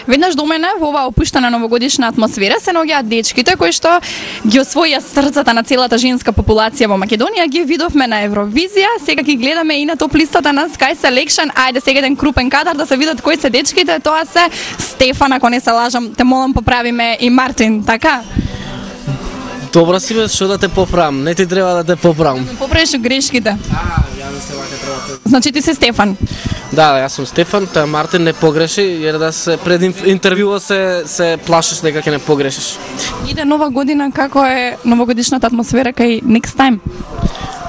Веднаш до мене во оваа опуштена новогодишна атмосфера се наоѓаат дечките кои што ги освоија срцата на целата женска популација во Македонија, ги видовме на Евровизија, сега ги гледаме и на топ листата на Sky Selection. Ајде сега еден крупен кадар да се видат кои се дечките, тоа се Стефан, ако не се лажам, те молам поправиме, и Мартин, така? Добро си бе, што да те поправам, не ти треба да те поправам. Поправиш грешките. Ја не се вака треба те... Значи ти си Стефан. Да, јас сум Стефан, та Мартин не погреши, jer да се пред интервјуот се плашиш дека ќе не погрешиш. Иде нова година, како е новогодишната атмосфера кај Next Time?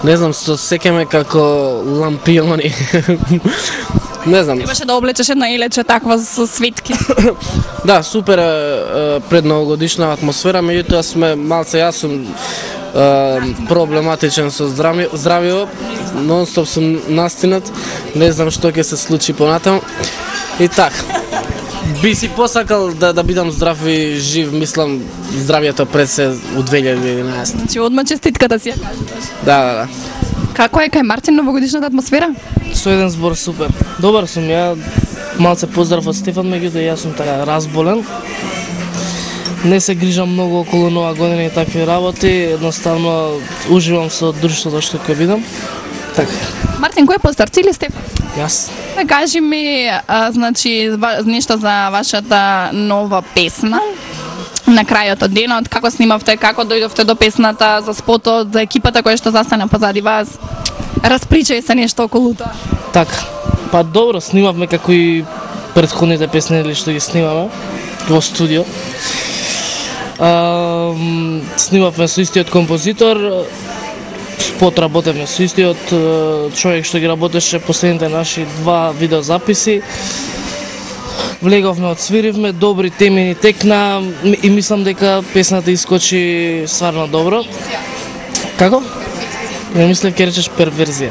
Не знам, се сеќаме како лампиони. Не знам. Требаше да облечеш една илече таква со светки. Да, супер пред новогодишна атмосфера, меѓутоа сме малце, јас сум проблематичен со здравје, нон-стоп сум настинат, не знам што ќе се случи понатаму. И така. Би си посакал да бидам здрав и жив, мислам здравјето пред се у 2011. Значи одма честитката си ја кажуваш. Да. Како е кај Мартин новогодишната атмосфера? Со еден збор супер. Добар сум ја, малце поздрав од Стефан, меѓутоа јас сум така разболен. Не се грижам многу околу нова година и такви работи, едноставно уживам со друштвото што ќе видам. Така. Мартин, кој е постар, ти или Стефан? Јас. Кажи ми, значи, нешто за вашата нова песна. На крајот од денот, како снимавте, како дојдовте до песната, за спотот, за екипата која што застана позади вас. Распричај се нешто околу тоа. Така. Па добро, снимавме како и претходните песни или што ги снимаме во студио. Снимавме со истиот композитор, спот работевме со истиот човек што ги работеше последните наши 2 видеозаписи. Влеговме, отсвиривме, добри теми ни текна и мислам дека песната искочи стварно добро. Како? Не мислев ќе речеш перверзија.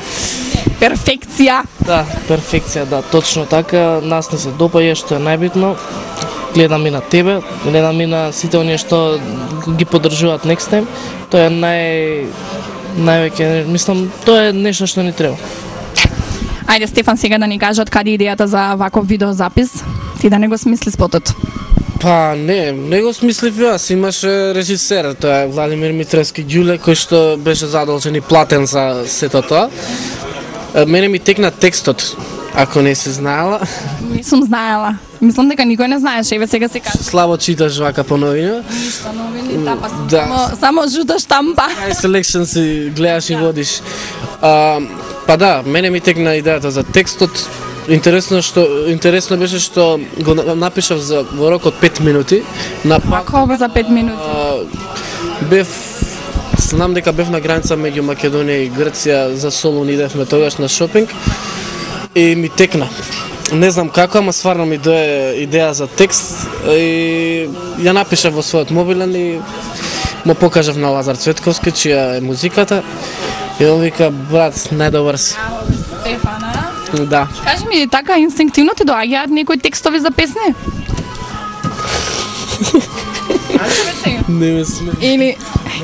Перфекција. Да, перфекција, да, точно така. Нас не се допаѓа, што е најбитно. Гледам и на тебе, гледам и на сите оние што ги поддржуваат Next Time. Тоа е највеќе, мислам, тоа е нешто што ни треба. Ајде Стефан сега да ни каже од каде идејата за ваков видеозапис. Ти да не го смисли спотот. Па не го смислив јас, имаше режисер, тоа е Владимир Митревски Ѓуле, кој што беше задолжен и платен за сето тоа. Мене ми текна текстот, ако не си знаела. Не сум знаела. Мислам дека никој не знаеше, еве сега се кажа. Слабо читаш вака по новина. Ништо новини, тапа. Да. Само жута штампа. Sky Selection си гледаш и водиш. Па да, мене ми текна идејата за текстот. Интересно беше што го напишав во рок од 5 минути. Како за 5 минути? Знам дека бев на граница меѓу Македонија и Грција, за Солун идевме тогаш на шопинг и ми текна. Не знам како, ама стварно ми дое идеја за текст и ја напишав во својот мобилен и му покажав на Лазар Цветковски, чија е музиката. И он вика, брат, најдобар си. Стефана? Да. Кажи ми, така инстинктивно ти доаѓаат некои текстови за песни? Не ме сме.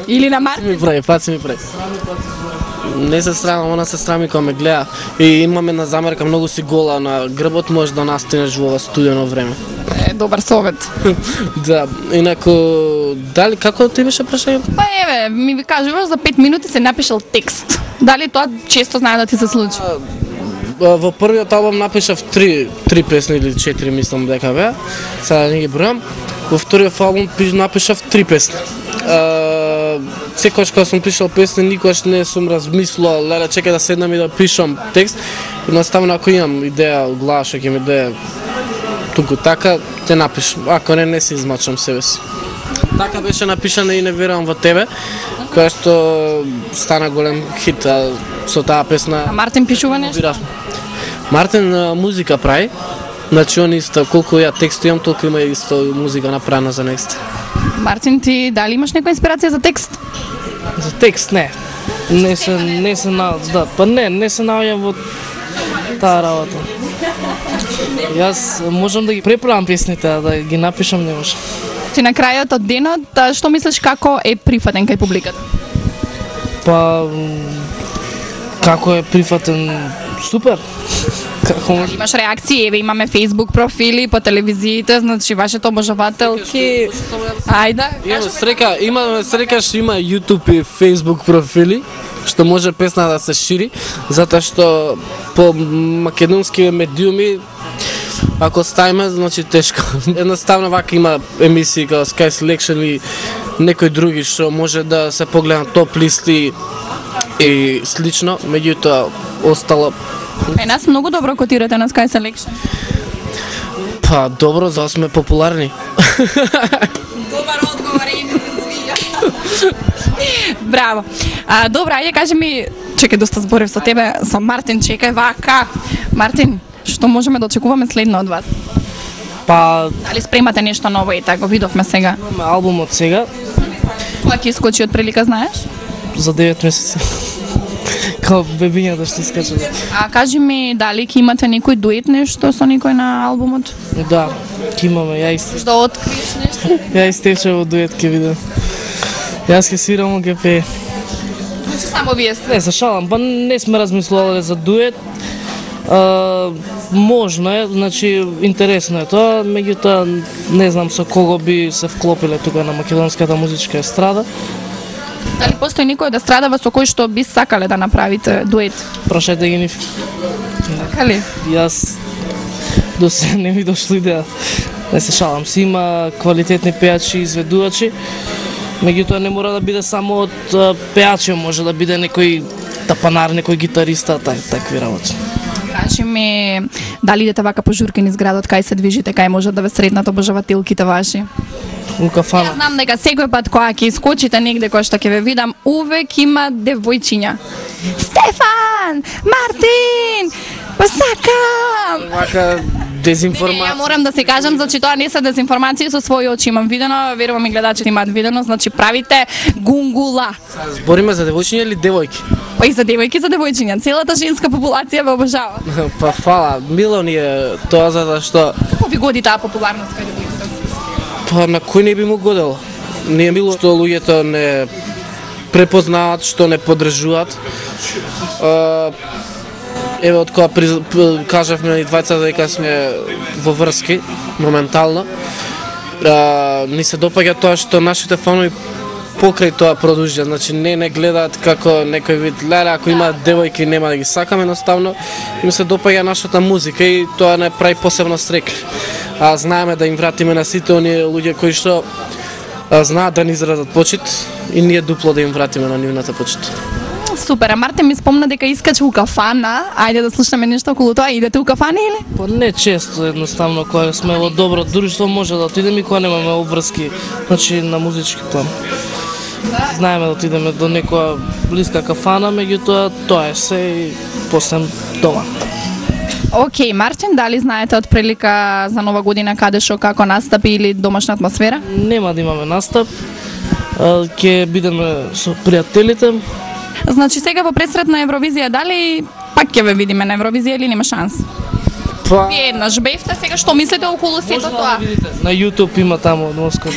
Или на Мартин? Паци ми прави. Не се срамам, она се срами кога ме гледа. И имаме на замерка многу си гола на грбот, може да настинеш во ова студено време. Добар совет. Да, инаку, дали, како ти беше прашањето? Па еве, ми кажуваш за 5 минути се напишал текст. Дали тоа често знае да ти се случи? Во првиот албум напишав 3 песни или 4, мислам дека беа. Сега не ги бројам. Во вториот албум напишав 3 песни. Секогаш кога сум пишал песни, никогаш не сум размислувал, леле, чекај да седнам и да пишам текст. Едноставно, ако имам идеја од глава што ќе ми дое туку така, те напишам. Ако не се измачам себе си. Така беше напишана и Не верувам во тебе, која што стана голем хит со таа песна. А Мартин пишува нешто? Мартин музика прави. Значи он исто, колку ја текст имам, толку има исто музика направена за Next. Мартин, ти дали имаш некоја инспирација за текст? За текст не. Не се наоѓам во таа работа. Јас можам да ги преправам песните, а да ги напишам не можам. Ти на крајот од денот, што мислиш како е прифатен кај публиката? Па како е прифатен? Супер. Како може? Имаш реакции, еве имаме Facebook профили по телевизиите, значи вашите обожавателки. Ајде, Имаме среќа што има YouTube и Facebook профили, што може песна да се шири, затоа што по македонски медиуми ако ставиме, значи тешко. Едноставно вака има емисии како Sky Selection и некои други што може да се погледнат топ листи и слично, меѓутоа остало. Нас многу добро котирате на Sky Selection. Па добро, за сме популарни. Добар одговор и ми се свија. Браво. Добра, ајде кажи ми, чекај доста зборев со тебе, со Мартин, чекај вака. Мартин, што можеме да очекуваме следно од вас? Па, Дали спремате нешто ново и така го видовме сега? имаме албумот сега Кога ќе искочи од прилика, знаеш? за 9 месеци. Као бебињата што искачат. Кажи ми, дали ќе имате некој дует нешто со некој на албумот? Да, ќе имаме, ја Да откриеш нешто? и Стефче во дует ќе видам. Јас ќе свирам, он ќе пее. Значи само вие сте. Не, се шалам, па не сме размислувале за дует. Можно е, значи интересно е тоа, меѓутоа не знам со кого би се вклопиле тука на македонската музичка естрада. Дали постои некој од естрадава со кој што би сакале да направите дует? Прашајте ги нив. Така ли? Јас до се не ми дошло идеја. Не се шалам, си има квалитетни пејачи и изведувачи. Меѓутоа не мора да биде само од пејачи, може да биде некој тапанар, некој гитариста, такви работи. Кажи ми, дали идете вака по журки низ градот, кај се движите, кај може да ве сретнат обожавателките ваши? У кафана. Јас знам дека секој пат кога ќе искочите негде кој што ќе ве видам, увек има девојчиња. Стефан! Мартин! Посакам! Вака Ја дезинформација. морам да се кажам, значи тоа не се дезинформации, со своји очи имам видено, верувам и гледачите имаат видено, значи правите гунгула. Збориме за девојчиња или девојки? Па и за девојки, за девојчиња, целата женска популација ве обожава. Па фала, мило ни е тоа затоа што Како ви годи таа популарност кај девојките? па на кој не би му годело? Ни е мило што луѓето не препознаваат, што не поддржуваат. Еве од кога кажавме и двајцата дека сме во врски моментално, ни се допаѓа тоа што нашите фанови покрај тоа продолжуваат, значи не гледаат како некој вид леле, ако има девојки нема да ги сакаме, едноставно им се допаѓа нашата музика и тоа не прави посебно стрекли. Знаеме да им вратиме на сите оние луѓе кои што знаат да ни изразат почит и ние дупло да им вратиме на нивната почит. Супер, а Мартин ми спомна дека искача у кафана. Ајде да слушаме нешто околу тоа. Идете у кафана или? Па не често, едноставно, кога сме во добро друштво може да отидеме и кога немаме обврски, значи на музички план. Знаеме да отидеме до некоја блиска кафана, меѓутоа тоа е се и после дома. Океј, Мартин, дали знаете од прилика за Нова година каде шо како настапи или домашна атмосфера? Нема да имаме настап, ќе бидеме со пријателите. Значи сега во пресрет на Евровизија, дали пак ќе ве видиме на Евровизија или нема шанс? Па Вие еднаш бевте, сега што мислите околу сето тоа? На YouTube има таму од Москва.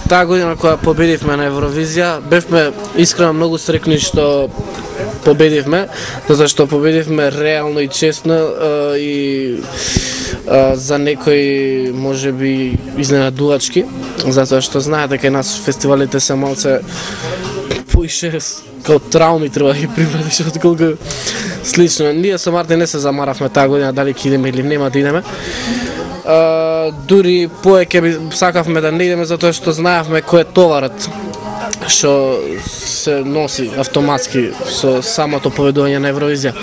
таа година кога победивме на Евровизија, бевме искрено многу срекни што победивме, затоа што победивме реално и честно и за некои можеби изненадувачки, затоа што знаете дека нас фестивалите се малце поише као трауми треба да ги прифатиш отколку слично. Ние со Мартин не се замаравме таа година дали ќе идеме или нема да идеме. Дури повеќе би сакавме да не идеме затоа што знаевме кој е товарот што се носи автоматски со самото победување на Евровизија.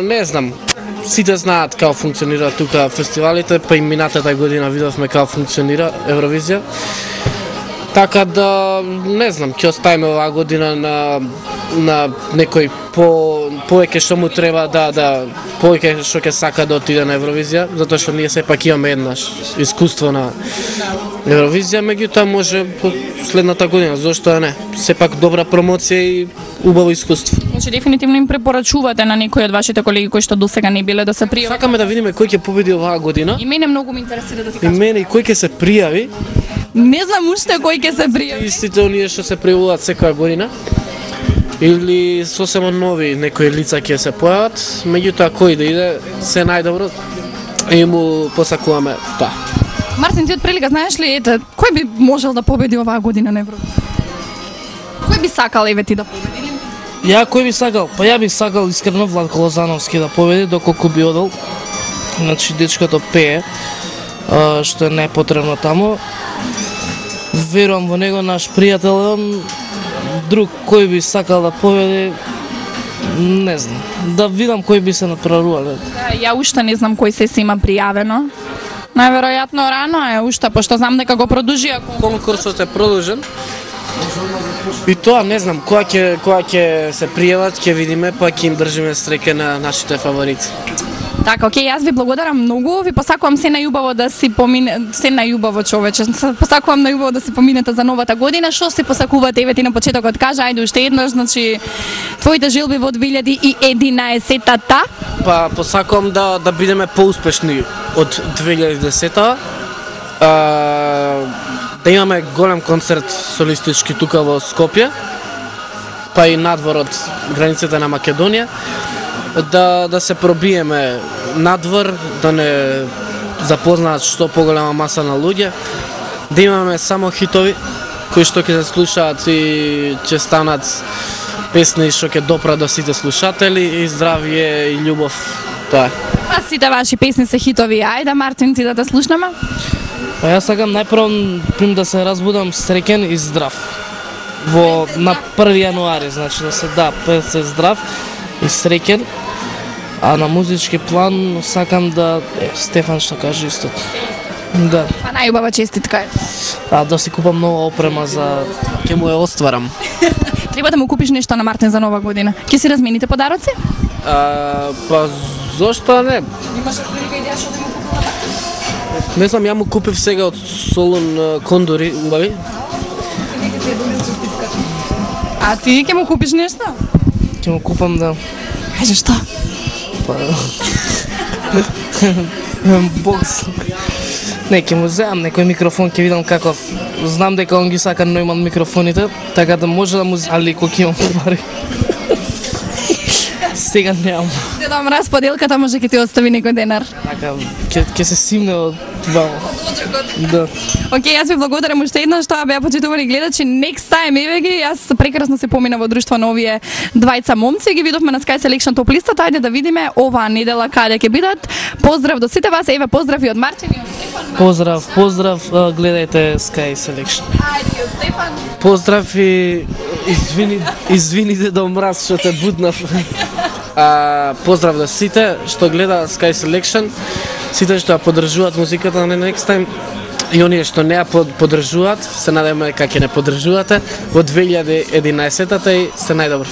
Не знам, сите знаат како функционира тука фестивалите, па и минатата година видовме како функционира Евровизија. Така да, не знам, ќе оставиме оваа година на некој повеќе што му треба повеќе што ќе сака да отиде на Евровизија, затоа што ние сепак имаме еднаш искуство на Евровизија, меѓутоа може следната година, зошто не? Сепак добра промоција и убаво искуство. Значи дефинитивно им препорачувате на некои од вашите колеги кои што досега не биле да се пријават. Сакаме да видиме кој ќе победи оваа година. И мене многу ме интересира да ти И кажам. мене и кој ќе се пријави. Не знам уште кој ќе се пријави. Истите оние што се пријавуваат секоја година. или сосема нови некои лица ќе се појават, меѓутоа кој да иде се најдобро и му посакуваме тоа. Мартин, ти од прилика знаеш ли кој би можел да победи оваа година на Евровизија? Кој би сакал ти да победи? Ја кој би сакал? Па ја би сакал искрено Владко Лозановски да победи, доколку би одел. Значи дечкото пее, што е најпотребно таму. Верувам во него, наш пријател. Друг кој би сакал да победи, не знам. Да видам кој би се натпреварувале. Ја уште не знам кој се има пријавено. Најверојатно рано е уште, пошто знам дека го продолжи. Конкурсот е продолжен. И тоа не знам, кога ќе се пријават, ќе видиме, па ќе им држиме стреке на нашите фаворити. Така, окей, јас ви благодарам многу, ви посакувам се најубаво да си се најубаво човече, посакувам најубаво да си поминете за новата година, што се посакувате, еве ти на почетокот кажа, ајде уште еднаш, значи, твоите желби во 2011-та? Па, посакувам да бидеме поуспешни од 2010-та, да имаме голем концерт солистички тука во Скопје, па и надвор од границите на Македонија, да се пробиеме надвор, да не запознаат што поголема маса на луѓе, да имаме само хитови кои што ќе се слушаат и ќе станат песни што ќе допрат до сите слушатели и здравје и љубов. Тоа. А сите ваши песни се хитови, ајде Мартин ти да те слушнеме. Па јас сакам најпрво да се разбудам среќен и здрав. На 1 јануари, значи да се здрав и среќен. А на музички план сакам да Стефан што каже истото. Да. Па најубава честитка е. Да си купам нова опрема за Ќе му ја остварам. Треба да му купиш нешто на Мартин за нова година. Ќе си размените подароци? Па зошто не? Имаш прилика идеја што да му купуваш? Не знам, ја му купив сега од Солун кондори, убави. А ти ќе му купиш нешто? Ќе му купам да. Кажи што? Па бокс. Не, ќе му земам некој микрофон, ќе видам каков. Знам дека он ги сака Нойман микрофоните, така да може да му али кога имам пари. Сега немам. Дедо Мраз, поделката може ќе ти остави некој денар. Така, ќе се симне од вамо. Да. Океј, јас ви благодарам уште еднаш, тоа беа почитувани гледачи. Next time, еве ги, јас прекрасно се помина во друштво на овие двајца момци, ги видовме на Sky Selection топ листата, ајде да видиме оваа недела каде ќе бидат. Поздрав до сите вас, еве поздрави од Мартин и од Стефан. Поздрав, гледајте Sky Selection. Ајде, од Стефан. Поздрав и извините до Мраз што те буднав. Поздрав до сите што гледа Sky Selection, сите што ја поддржуваат музиката на Next Time и оние што не ја поддржуваат, се надеваме дека ќе не поддржувате во 2011-та и се најдобро.